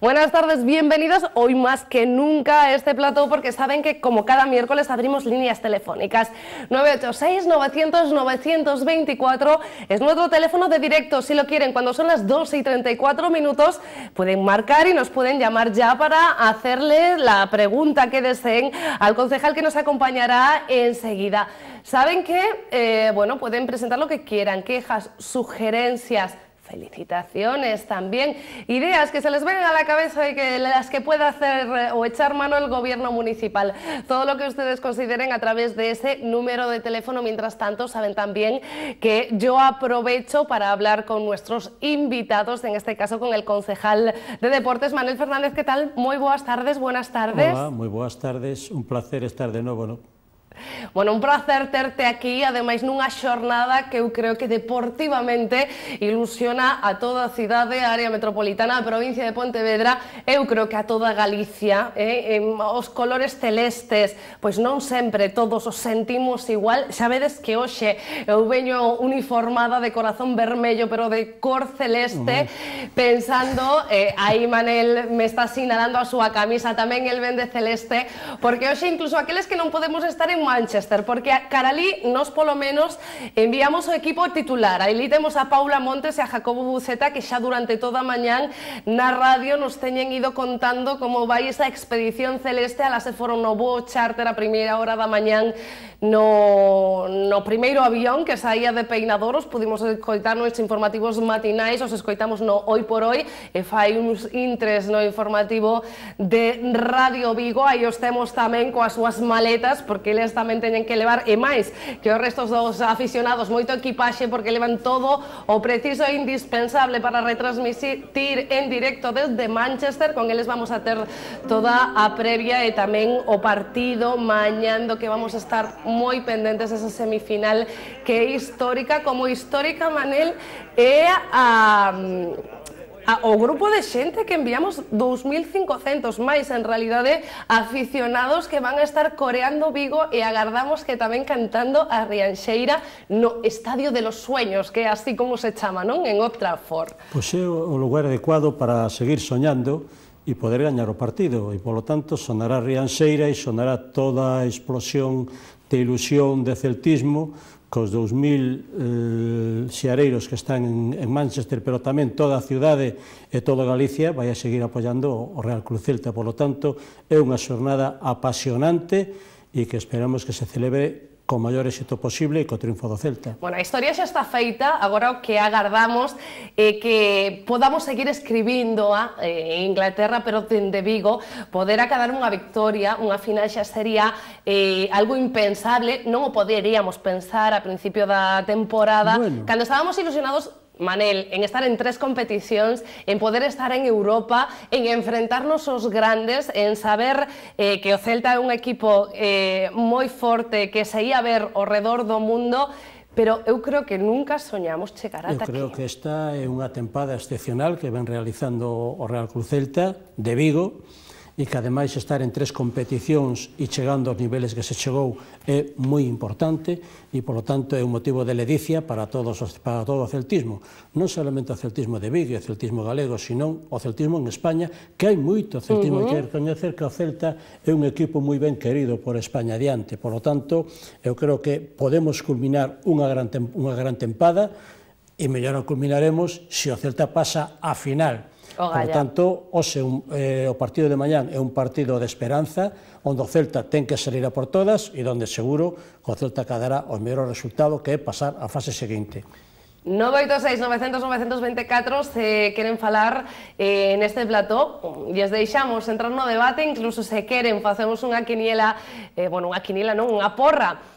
Buenas tardes, bienvenidos hoy más que nunca a este plató porque saben que como cada miércoles abrimos líneas telefónicas. 986-900-924 es nuestro teléfono de directo. Si lo quieren, cuando son las 2:34 pueden marcar y nos pueden llamar ya para hacerle la pregunta que deseen al concejal que nos acompañará enseguida. Saben que, bueno, pueden presentar lo que quieran, quejas, sugerencias, felicitaciones también, ideas que se les vengan a la cabeza y que las que pueda hacer o echar mano el gobierno municipal. Todo lo que ustedes consideren a través de ese número de teléfono. Mientras tanto, saben también que yo aprovecho para hablar con nuestros invitados, en este caso con el concejal de Deportes, Manuel Fernández. ¿Qué tal? Muy buenas tardes, buenas tardes. Hola, moi boas tardes, un placer estar de novo, ¿no? Bueno, un placer terte aquí, ademais nunha xornada que eu creo que deportivamente ilusiona a toda a cidade, a área metropolitana, a provincia de Pontevedra, eu creo que a toda Galicia, os colores celestes, pois non sempre todos os sentimos igual. Xa vedes que hoxe eu veño uniformada de corazón vermello, pero de cor celeste, pensando, aí Manel me está sinalando a súa camisa, tamén el vende celeste, porque hoxe incluso aqueles que non podemos estar en Manchester, porque a Caralí nos polo menos enviamos o equipo titular. Aí temos a Paula Montes e a Jacobo Buceta, que xa durante toda a mañán na radio nos teñen ido contando como vai esa expedición celeste. Alas se foron no voo charter a primeira hora da mañán no primeiro avión que saía de Peinadoros. Pudimos escoitar nos informativos matinais, os escoitamos no Hoy por Hoy, e fai uns intres no informativo de Radio Vigo. Aí os temos tamén coas súas maletas, porque eles tamén teñen que levar, e máis que os restos dos aficionados, moito equipaxe, porque levan todo o preciso e indispensable para retransmitir en directo desde Manchester. Con eles vamos a ter toda a previa e tamén o partido mañán, do que vamos a estar moi pendentes. Esa semifinal que é histórica, como histórica, Manel, é o grupo de xente que enviamos, 2.500 máis en realidade aficionados que van a estar coreando Vigo, e agardamos que tamén cantando a Rianxeira no Estadio de los Sueños, que é así como se chama, non? En Old Trafford. Pois é o lugar adecuado para seguir soñando e poder gañar o partido, e polo tanto sonará Rianxeira e sonará toda a explosión de ilusión, de celtismo, cos 2.000 xeareiros que están en Manchester, pero tamén toda a cidade e toda Galicia vai a seguir apoiando o Real Club Celta. Por lo tanto, é unha xornada apasionante e que esperamos que se celebre con maior éxito posible e co triunfo do Celta. Bueno, a historia xa está feita, agora o que agardamos é que podamos seguir escribindo en Inglaterra, pero dende Vigo, poder acadar unha victoria. Unha final xa sería algo impensable, non o poderíamos pensar a principio da temporada, cando estábamos ilusionados, Manel, en estar en 3 competicións, en poder estar en Europa, en enfrentarnos aos grandes, en saber que o Celta é un equipo moi forte, que se ia ver ao redor do mundo, pero eu creo que nunca soñamos chegar ata aquí. Eu creo que esta é unha tempada excepcional que ven realizando o Real Club Celta de Vigo, e que ademais estar en 3 competicións e chegando aos niveles que se chegou é moi importante, e polo tanto é un motivo de ledicia para todo o celtismo, non solamente o celtismo de Vigo e o celtismo galego, sino o celtismo en España, que hai moito celtismo. Hai que recoñecer que o Celta é un equipo moi ben querido por España adiante. Polo tanto, eu creo que podemos culminar unha gran tempada, e mellor a culminaremos se o Celta pasa a final. Por tanto, o partido de mañán é un partido de esperanza, onde o Celta ten que salir a por todas, e onde seguro que o Celta acadará o mellor resultado, que é pasar a fase seguinte. 986-900-924, se queren falar neste plató, lles deixamos entrar no debate, incluso se queren facemos unha quiniela, unha porra,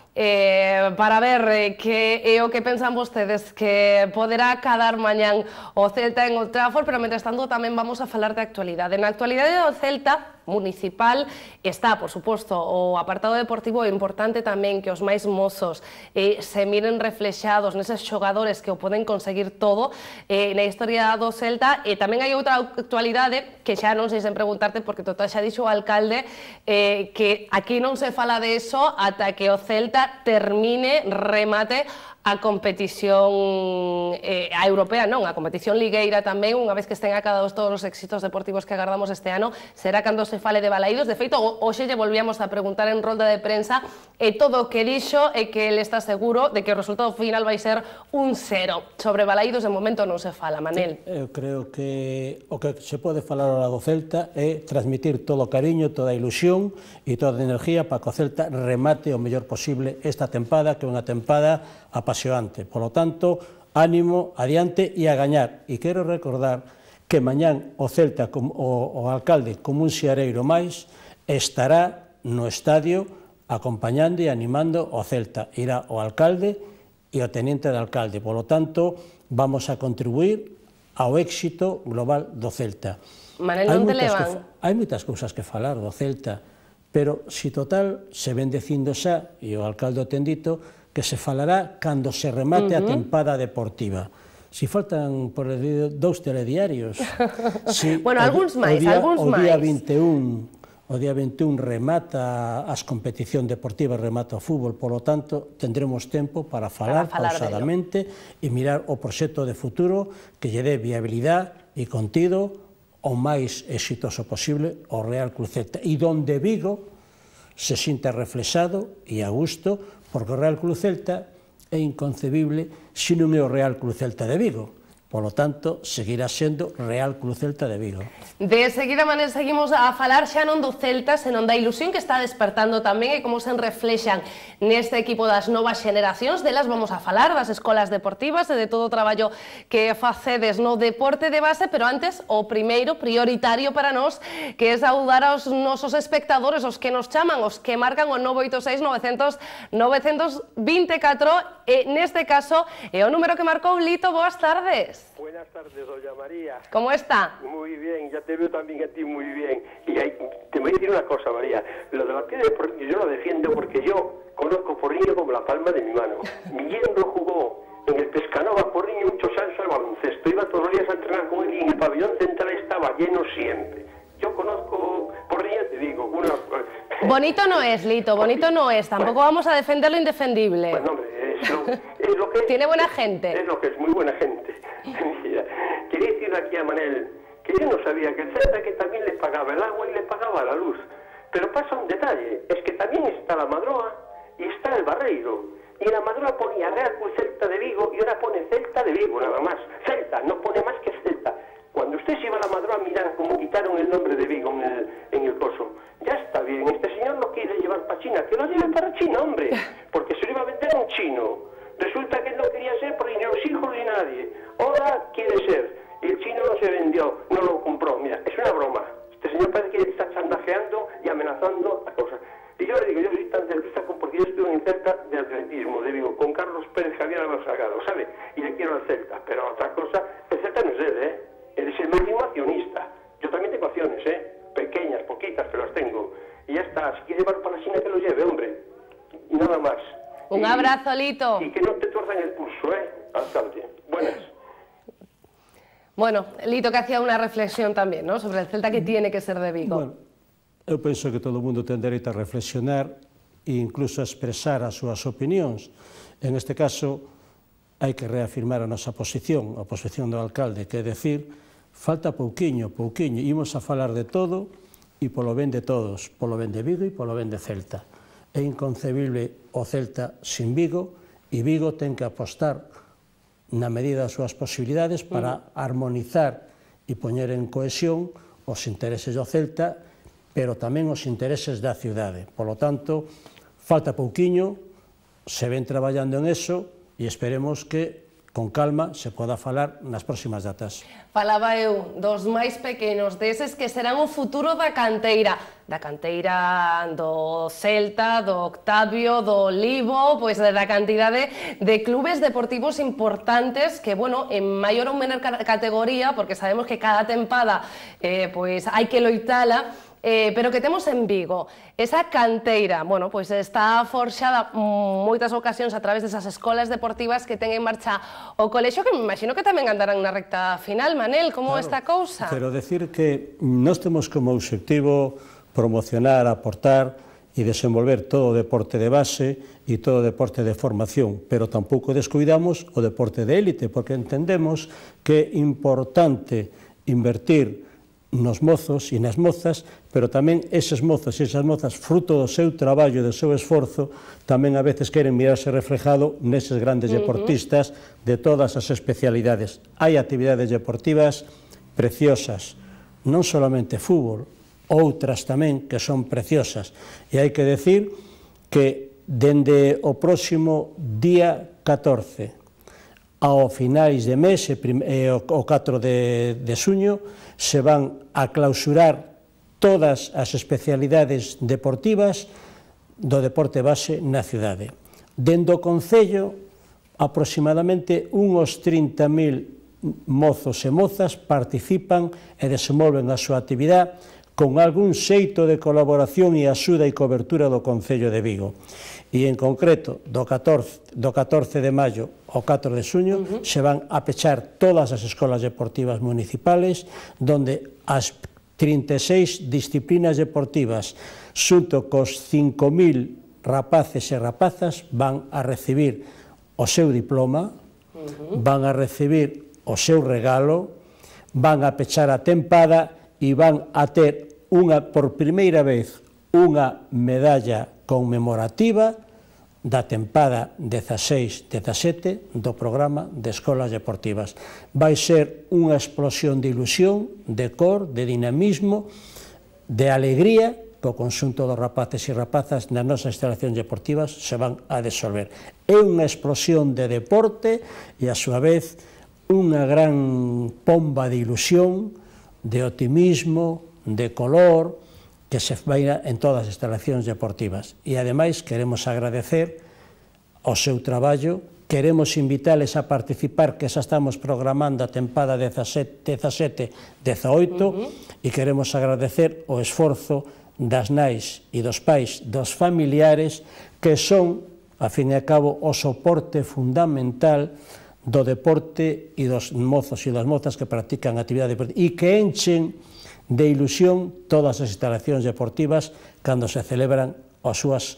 para ver que é o que pensan vostedes que poderá cadar mañán o Celta en Old Trafford. Pero mentres tanto tamén vamos a falar de actualidade. Na actualidade do Celta municipal está, por suposto, o apartado deportivo. É importante tamén que os máis mozos se miren reflexados neses xogadores que o poden conseguir todo na historia do Celta. E tamén hai outra actualidade que xa non sei sen preguntarte, porque total xa dixo o alcalde que aquí non se fala de eso ata que o Celta termine, remate a competición a europea, non, a competición ligueira tamén, unha vez que estén acabados todos os éxitos deportivos que agardamos este ano, será cando se fale de Balaídos. De feito, hoxe lle volvíamos a preguntar en rolda de prensa e todo o que dixo é que ele está seguro de que o resultado final vai ser un 0. Sobre Balaídos, de momento non se fala, Manel. Eu creo que o que se pode falar ao lado do Celta é transmitir todo o cariño, toda a ilusión e toda a energía para que o Celta remate o mellor posible esta tempada, que é unha tempada apasionante. Por lo tanto, ánimo, adiante e a gañar. E quero recordar que mañán o Celta, o alcalde, como un xiareiro máis, estará no estadio acompañando e animando o Celta. Irá o alcalde e o teniente de alcalde. Por lo tanto, vamos a contribuir ao éxito global do Celta. Manel, non te levan? Hai moitas cousas que falar do Celta, pero si total se ven dicindo xa, e o alcalde o ten dito, que se falará cando se remate a tempada deportiva. Si faltan por dous telediarios. Bueno, algúns máis, algúns máis. O día 21 remata as competicións deportivas, remata o fútbol, polo tanto, tendremos tempo para falar pausadamente e mirar o proxecto de futuro que lle dé viabilidade e contido o máis exitoso posible ao Real Club Celta, e donde Vigo se sinta reflexado e a gusto, porque o Real Club Celta é inconcebible se non é o Real Club Celta de Vigo. Polo tanto, seguirá sendo Real Club Celta de Vigo. De seguida, Manel, seguimos a falar xa non do Celta, senón da ilusión que está despertando tamén e como se reflexan neste equipo das novas xeneracións. Delas vamos a falar, das escolas deportivas e de todo o traballo que facedes no deporte de base, pero antes, o primeiro prioritario para nós, que é saudar aos nosos espectadores, os que nos chaman, os que marcan o 986-900-924, e neste caso é o número que marcou Lito. Boas tardes. Buenas tardes, doña María. ¿Cómo está? Muy bien, ya te veo también a ti muy bien. Y te voy a decir una cosa, María. Lo de la piedra yo lo defiendo porque yo conozco Porriño como la palma de mi mano. Mi yerno jugó en el Pescanova Porriño muchos años al baloncesto. Iba todos los días a entrenar con él y en el pabellón central estaba lleno siempre. Yo conozco Porriño, te digo, una... Bonito no es, Lito, bonito no es. Tampoco vamos a defender lo indefendible. Bueno, hombre, es lo que es. Tiene buena gente. Es lo que es, muy buena gente. Mira, quería decirle aquí a Manel que yo no sabía que el Celta que también le pagaba el agua y le pagaba la luz. Pero pasa un detalle, es que también está la Madroa y está el Barreiro. Y la Madroa ponía Real Club Celta de Vigo y ahora pone Celta de Vigo, nada más. Celta, no pone más que Celta. Cuando usted se iba a la Madroa, miran cómo quitaron el nombre de Vigo en el coso. Ya está bien, este señor no quiere llevar para China, que lo lleve para China, hombre, porque se lo iba a vender a un chino. Resulta que él no quería ser por ni los hijos ni nadie. Ahora quiere ser. Y el chino no se vendió, no lo compró. Mira, es una broma. Este señor parece que está chantajeando y amenazando a cosas. Y yo le digo, yo soy tan celtista porque yo estuve en Celta de atletismo, de Vigo, con Carlos Pérez Javier Álvaro Salgado, ¿sabe? Y le quiero al Celta. Pero otra cosa, el Celta no es él, ¿eh? Él es el máximo accionista. Yo también tengo acciones, ¿eh? Pequeñas, poquitas, pero las tengo. Y ya está, si quiere llevar para la China que lo lleve, hombre. Y nada más. Un abrazo, Lito. Y que no te tuerzan el pulso, alcalde. Buenas. Bueno, Lito, que hacía una reflexión también, ¿no?, sobre el Celta que tiene que ser de Vigo. Bueno, eu penso que todo o mundo ten dereito a reflexionar e incluso a expresar as súas opinións. En este caso, hai que reafirmar a nosa posición, a posición do alcalde, que é decir, falta pouquiño, imos a falar de todo e polo ben de todos, polo ben de Vigo e polo ben de Celta. É inconcebible o Celta sin Vigo, e Vigo ten que apostar na medida das súas posibilidades para armonizar e poñer en cohesión os intereses do Celta, pero tamén os intereses da cidade. Por lo tanto, falta pouquiño, se ven traballando en eso e esperemos que con calma se poda falar nas próximas datas. Falaba eu dos máis pequenos, deses que serán o futuro da canteira do Celta, do Octavio, do Olivo, pois da cantidade de clubes deportivos importantes que, bueno, en maior ou menor categoría, porque sabemos que cada tempada pois hai que loitala, pero que temos en Vigo. Esa canteira, bueno, pois está forxada moitas ocasións a través desas escolas deportivas que ten en marcha o colexio, que me imagino que tamén andarán na recta final. Manel, como esta cousa? Pero decir que nós temos como obxectivo promocionar, aportar e desenvolver todo o deporte de base e todo o deporte de formación, pero tampouco descuidamos o deporte de élite, porque entendemos que é importante invertir nos mozos e nas mozas, pero tamén eses mozos e esas mozas, fruto do seu traballo e do seu esforzo, tamén a veces queren mirarse reflejado neses grandes deportistas de todas as especialidades. Hai actividades deportivas preciosas, non solamente fútbol, outras tamén que son preciosas. E hai que decir que dende o próximo día 14 ao finais de mes, o 4 de xuño, se van a clausurar todas as especialidades deportivas do deporte base na cidade. Dende o Concello, aproximadamente uns 30.000 mozos e mozas participan e desenvolven a súa actividade con algún xeito de colaboración e axuda e cobertura do Concello de Vigo. E en concreto, do 14 de maio ao 4 de xuño, se van a pechar todas as escolas deportivas municipales, donde as 36 disciplinas deportivas, xunto cos 5.000 rapaces e rapazas, van a recibir o seu diploma, van a recibir o seu regalo, van a pechar a tempada e van a ter por primeira vez unha medalla conmemorativa da tempada 16-17 do programa de escolas deportivas. Vai ser unha explosión de ilusión, de cor, de dinamismo, de alegría que o conxunto dos rapaces e rapazas nas nosas instalacións deportivas se van a desolver. É unha explosión de deporte e, a súa vez, unha gran pomba de ilusión, de optimismo, de color, que se vai en todas as instalacións deportivas. E, ademais, queremos agradecer o seu traballo, queremos invitales a participar, que xa estamos programando a tempada 17-18, e queremos agradecer o esforzo das nais e dos pais, dos familiares, que son, a fin e a cabo, o soporte fundamental do deporte e dos mozos e das mozas que practican actividade deportiva e que enchen de ilusión todas as instalacións deportivas cando se celebran os súas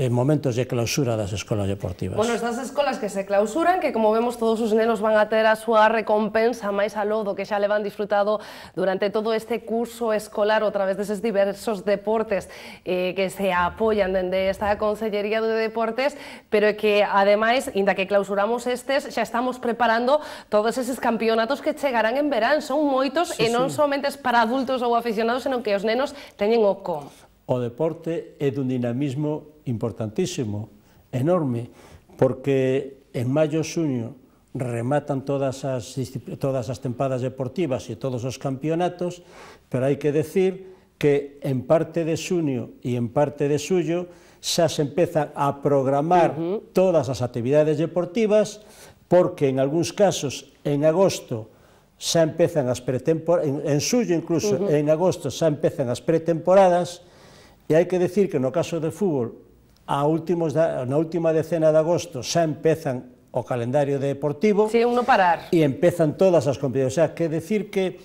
momentos de clausura das escolas deportivas. Bueno, estas escolas que se clausuran, que como vemos todos os nenos van a ter a súa recompensa máis aló do que xa levan disfrutado durante todo este curso escolar a través deses diversos deportes que se apoian dende esta Consellería de Deportes, pero que ademais, inda que clausuramos estes, xa estamos preparando todos eses campeonatos que chegarán en verán. Son moitos e non somente para adultos ou aficionados, senón que os nenos teñen o con. O deporte é dun dinamismo importantísimo, enorme, porque en maio e xuño rematan todas as tempadas deportivas e todos os campeonatos, pero hai que decir que en parte de xuño e en parte de xullo xa se empezan a programar todas as actividades deportivas, porque en algúns casos en agosto xa empezan as pretemporadas, en xullo incluso, en agosto xa empezan as pretemporadas. E hai que decir que no caso de fútbol, na última decena de agosto xa empezan o calendario deportivo. Sí, un non parar. E empezan todas as competicións. O sea, que decir que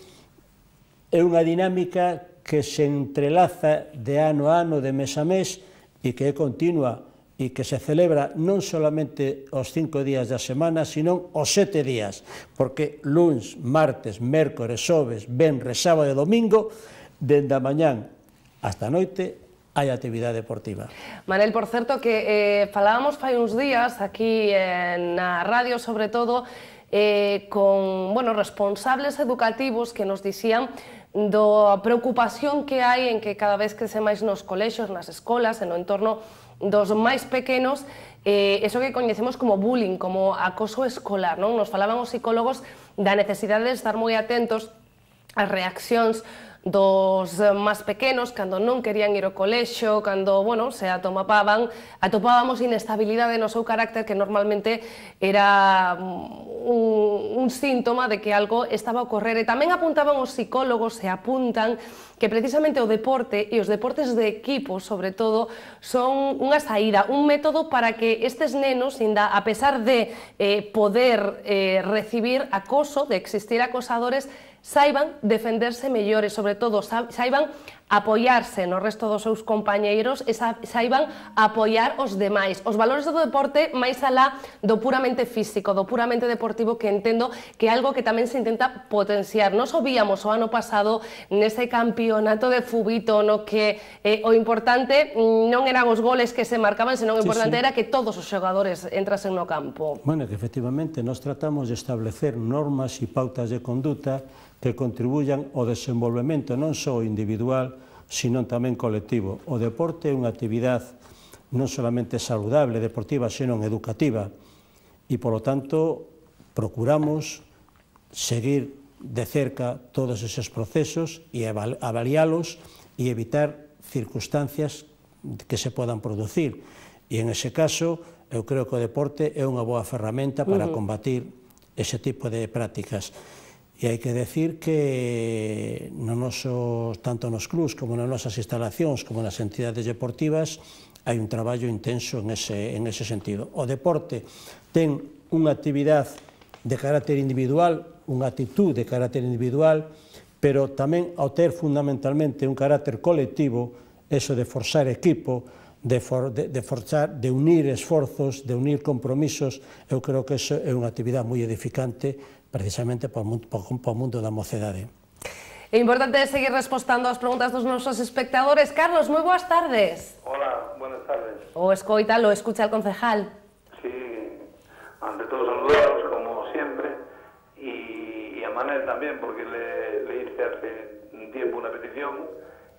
é unha dinámica que se entrelaza de ano a ano, de mes a mes, e que é continua, e que se celebra non solamente os 5 días da semana, sino os 7 días, porque luns, martes, mércores, xoves, venres, sábado e domingo, dende a mañán hasta a noite, hai actividade deportiva. Manel, por certo, que falábamos fai uns días aquí na radio, sobre todo, con responsables educativos que nos dicían da preocupación que hai en que cada vez crece máis nos colexios, nas escolas, no entorno dos máis pequenos, eso que coñecemos como bullying, como acoso escolar, non? Nos falaban os psicólogos da necesidade de estar moi atentos ás reaccións dos máis pequenos, cando non querían ir ao colexio, cando, se atopábamos inestabilidade no seu carácter, que normalmente era un síntoma de que algo estaba a ocorrer. E tamén apuntaban os psicólogos, e apuntan que precisamente o deporte e os deportes de equipo, sobre todo, son unha saída, un método para que estes nenos, a pesar de poder recibir acoso, de existir acosadores, saiban defenderse mellores, sobre todo saiban apoiarse no resto dos seus compañeiros e saiban apoiar os demais. Os valores do deporte máis alá do puramente físico, do puramente deportivo, que entendo que é algo que tamén se intenta potenciar. Nos o víamos o ano pasado nese campeonato de fubito no que o importante non eran os goles que se marcaban, senón o importante era que todos os xogadores entrasen no campo. Bueno, que efectivamente nos tratamos de establecer normas e pautas de conduta que contribuyan ao desenvolvemento non só individual, sino tamén colectivo. O deporte é unha actividade non solamente saludable, deportiva, senón educativa, e, polo tanto, procuramos seguir de cerca todos eses procesos e avaliálos e evitar circunstancias que se podan producir. E, en ese caso, eu creo que o deporte é unha boa ferramenta para combatir ese tipo de prácticas. E hai que decir que tanto nos clubs como nas nosas instalacións como nas entidades deportivas hai un traballo intenso en ese sentido. O deporte ten unha actividade de carácter individual, unha actitud de carácter individual, pero tamén ao ter fundamentalmente un carácter colectivo, eso de forzar equipo, de unir esforzos, de unir compromisos, eu creo que eso é unha actividade moi edificante precisamente para o mundo da mocedade. É importante seguir respondendo ás preguntas dos nosos espectadores. Carlos, moi boas tardes. Hola, buenas tardes. O escoita, lo escucha el concejal. Sí, ante todo saludaros, como siempre, y a Manel también, porque le hice hace un tiempo una petición,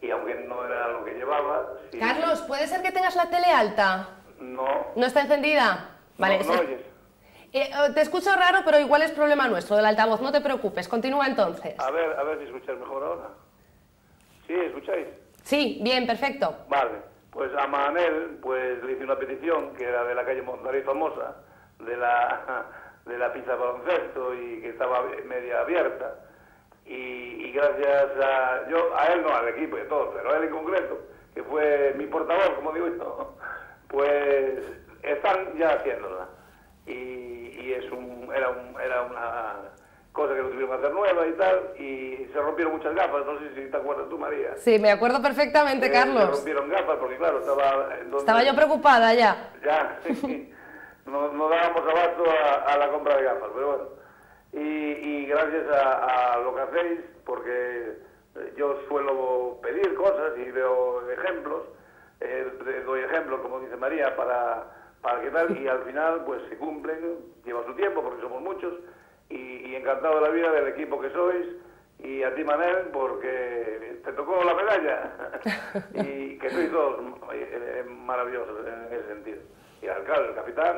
y aunque no era lo que llevaba... Sí. Carlos, ¿puede ser que tengas la tele alta? No. ¿No está encendida? Vale. No oyes. Te escucho raro, pero igual es problema nuestro, del altavoz, no te preocupes. Continúa entonces. A ver si escucháis mejor ahora. ¿Sí, escucháis? Sí, bien, perfecto. Vale, pues a Manel pues, le hice una petición, que era de la calle Montarí famosa, de la pista de baloncesto, y que estaba media abierta. Y gracias a él, no al equipo y a todos, pero a él en concreto, que fue mi portavoz, como digo yo, pues están ya haciéndola. Y era una cosa que lo tuvieron que hacer nueva y tal, y se rompieron muchas gafas, no sé si te acuerdas tú, María. Sí, me acuerdo perfectamente, Carlos. Se rompieron gafas porque, claro, estaba yo preocupada ya. Ya, sí, no dábamos abasto a la compra de gafas, pero bueno. Y gracias a lo que hacéis, porque yo suelo pedir cosas y veo ejemplos, doy ejemplos, como dice María, para que tal, y al final pues se cumplen, lleva su tiempo porque somos muchos, y encantado de la vida del equipo que sois, y a ti, Manel, porque te tocó la medalla, y que sois todos maravillosos en ese sentido. Y el alcalde, el capitán,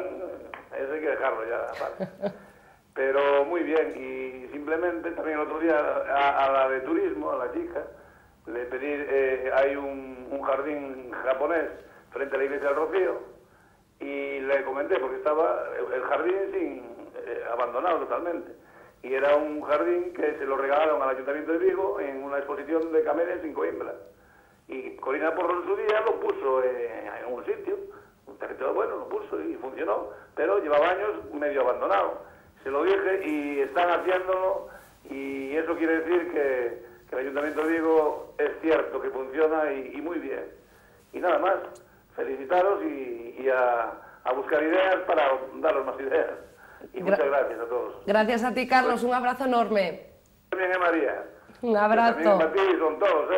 ese hay que dejarlo ya aparte. Pero muy bien, y simplemente también el otro día a la de turismo, a la chica, le pedí, hay un jardín japonés frente a la iglesia del Rocío, y le comenté, porque estaba el jardín abandonado totalmente, y era un jardín que se lo regalaron al Ayuntamiento de Vigo en una exposición de camellas en Coimbra, y Corina Porro en su día lo puso en un sitio, un territorio bueno, lo puso y funcionó, pero llevaba años medio abandonado. Se lo dije y están haciéndolo, y eso quiere decir que el Ayuntamiento de Vigo es cierto que funciona y muy bien. Y nada más, felicitaros y a buscar ideas para daros más ideas. Y muchas gracias a todos. Gracias a ti, Carlos, un abrazo enorme. También, María. Un abrazo. También para ti son todos,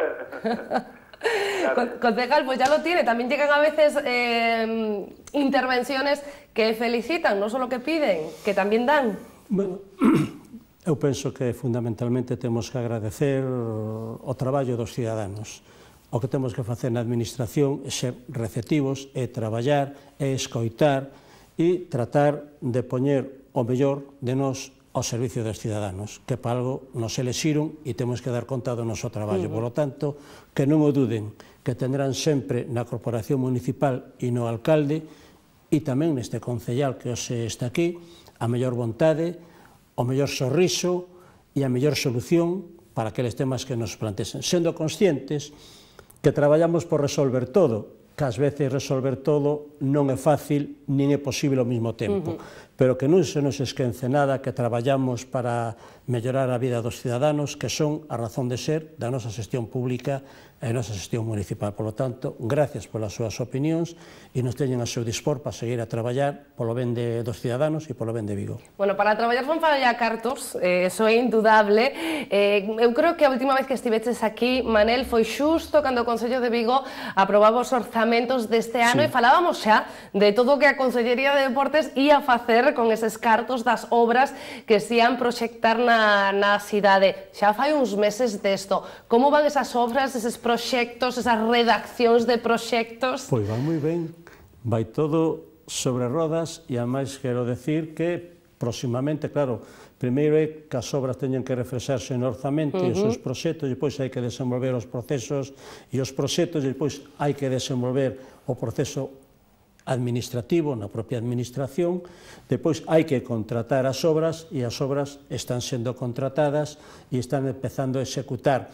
Concejal, pues ya lo tiene. También llegan a veces intervenciones que felicitan, no solo que piden, que también dan. Bueno, eu penso que fundamentalmente temos que agradecer o traballo dos ciudadanos. O que temos que facer na administración é ser receptivos, é traballar, é escoitar e tratar de poñer o mellor de nós ao servicio dos ciudadanos, que para algo nos elexiron e temos que dar conta do noso traballo. Por lo tanto, que non o duden, que tendrán sempre na Corporación Municipal e no alcalde e tamén neste concellal que hoxe está aquí, a mellor vontade, o mellor sorriso e a mellor solución para aqueles temas que nos plantexen, sendo conscientes que traballamos por resolver todo, que ás veces resolver todo non é fácil, nin é posible ao mesmo tempo, pero que non se nos esquece nada que traballamos para mellorar a vida dos ciudadanos, que son a razón de ser da nosa xestión pública e a nosa xestión municipal. Por lo tanto, gracias polas súas opinións e nos teñen a seu dispor para seguir a traballar polo ben dos ciudadanos e polo ben de Vigo. Bueno, para traballar fan falla cartos, eso é indudable. Eu creo que a última vez que estiveches aquí, Manel, foi xusto cando o Concello de Vigo aprobaba os orzamentos deste ano e falábamos xa de todo o que a Consellería de Deportes ia facer con eses cartos das obras que se ian proxectar na cidade. Xa fai uns meses desto. Como van esas obras, eses proxectos, esas redaccións de proxectos? Pois vai moi ben, vai todo sobre rodas e ademais quero decir que próximamente, claro, primeiro é que as obras teñen que reflexarse no orzamento e os seus proxectos, e depois hai que desenvolver os procesos e os proxectos, e depois hai que desenvolver o proceso administrativo na propia administración, depois hai que contratar as obras e as obras están sendo contratadas e están empezando a executar.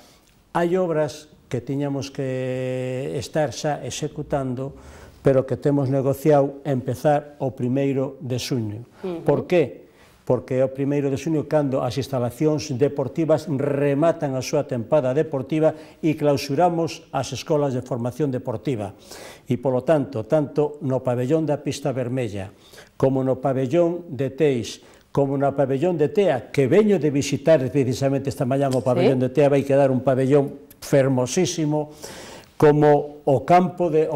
Hai obras que tiñamos que estar xa executando, pero que temos negociado empezar o 1º de xuño. Por qué? Porque é o 1º de xuño cando as instalacións deportivas rematan a súa tempada deportiva e clausuramos as escolas de formación deportiva. E, polo tanto, tanto no pabellón da Pista Vermella, como no pabellón de Teis, como no pabellón de Tea, que veño de visitar precisamente esta mañá o pabellón de Tea, vai quedar un pabellón fermosísimo, como o campo de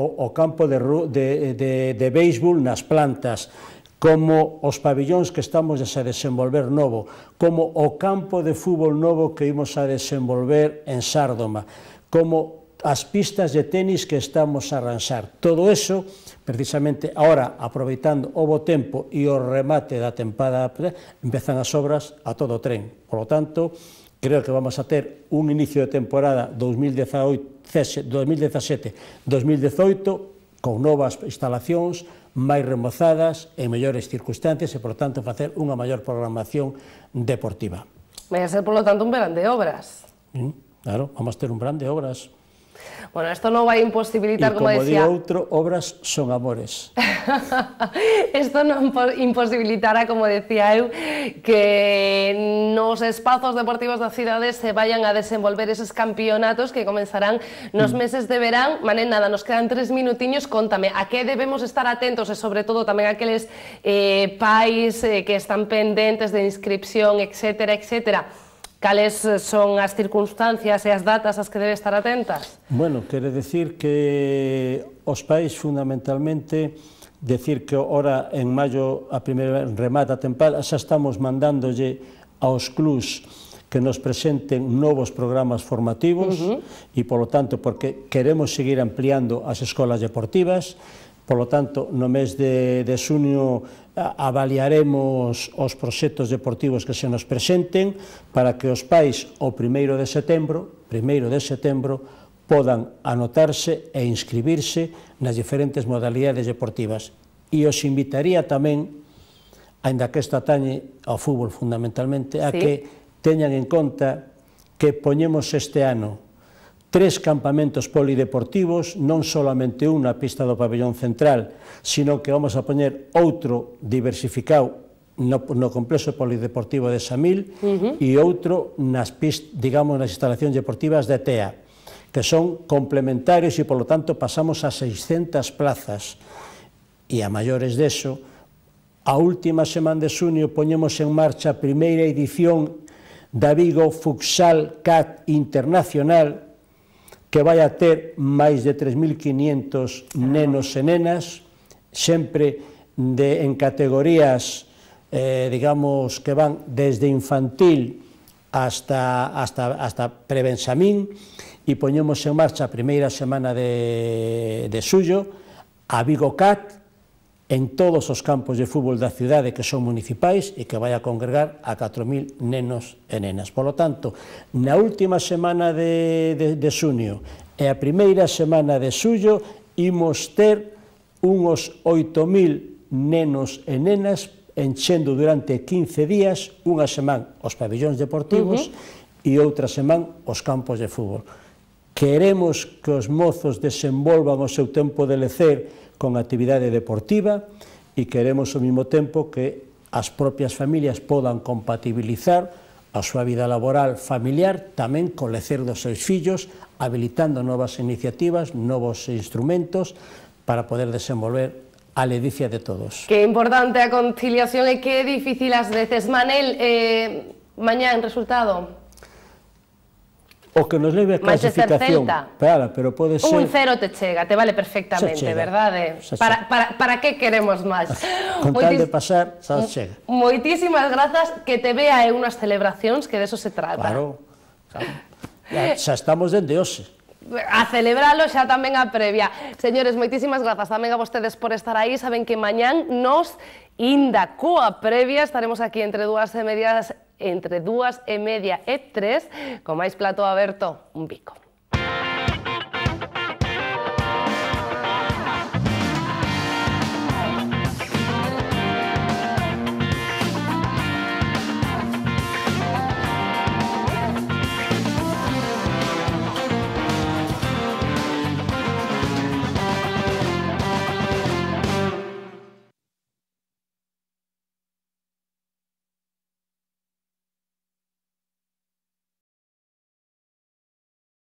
béisbol nas plantas, como os pabellóns que estamos a desenvolver novo, como o campo de fútbol novo que imos a desenvolver en Sárdoma, como as pistas de tenis que estamos a arranxar. Todo eso, precisamente, ahora, aproveitando o bo tempo e o remate da tempada, empezan as obras a todo tren. Por lo tanto, creo que vamos a ter un inicio de temporada 2017-2018 con novas instalacións, máis remozadas, en mellores circunstancias e, por tanto, facer unha maior programación deportiva. Vai a ser, por lo tanto, un verán de obras. Claro, vamos a ter un verán de obras. Bueno, esto non vai imposibilitar, como decía... E como di outro, obras son amores. Isto non imposibilitará, como decía eu, que nos espazos deportivos da cidade se vayan a desenvolver eses campeonatos que comenzarán nos meses de verán. Manel, nada, nos quedan 3 minutiños, contame, a que debemos estar atentos e, sobre todo, tamén aqueles pais que están pendentes de inscripción, etcétera, etcétera. Cales son as circunstancias e as datas ás que debe estar atentas? Bueno, quere decir que os pais, fundamentalmente, decir que ora en maio a primeira remata a tempada, xa estamos mandándolle aos clubs que nos presenten novos programas formativos e, polo tanto, porque queremos seguir ampliando as escolas deportivas. Por lo tanto, no mes de xuño avaliaremos os proxectos deportivos que se nos presenten para que os pais o 1º de setembro podan anotarse e inscribirse nas diferentes modalidades deportivas. E os invitaría tamén, aínda que isto atañe ao fútbol fundamentalmente, a que teñan en conta que poñemos este ano 3 campamentos polideportivos, non solamente un na pista do pabellón central, sino que vamos a poñer outro diversificado no complexo polideportivo de Samil e outro nas instalacións deportivas de Tea, que son complementarios e, polo tanto, pasamos a 600 plazas. E a maiores deso, a última semana de xuño poñemos en marcha a primeira edición da Vigo Futsal Cat Internacional, que vai a ter máis de 3.500 nenos e nenas, sempre en categorías, digamos, que van desde infantil hasta prebenxamín, e poñemos en marcha a primeira semana de xullo a Vigo Cat en todos os campos de fútbol da cidade que son municipais e que vai a congregar a 4.000 nenos e nenas. Por lo tanto, na última semana de xuño e a primeira semana de xullo imos ter uns 8.000 nenos e nenas enchendo durante 15 días, unha semana os pabellóns deportivos e outra semana os campos de fútbol. queremos que os mozos desenvolvan o seu tempo de lecer con actividade deportiva e queremos ao mesmo tempo que as propias familias podan compatibilizar a súa vida laboral familiar tamén co lecer dos seus fillos, habilitando novas iniciativas, novos instrumentos para poder desenvolver a ledicia de todos. Que importante a conciliación e que difícil ás veces. Manel, mañán resultado? O que nos leve a clasificación, pero pode ser... Un 0 te chega, te vale perfectamente, verdade? Para que queremos máis? Con tal de pasar, xa chega. Moitísimas grazas, que te vea en unhas celebracións, que de eso se trata. Claro. Xa estamos dende hoxe. A celebralo xa tamén a previa. Señores, moitísimas grazas tamén a vostedes por estar aí. Saben que mañán nos inda coa previa estaremos aquí entre 2:30 e 3, con máis plato aberto, un bico.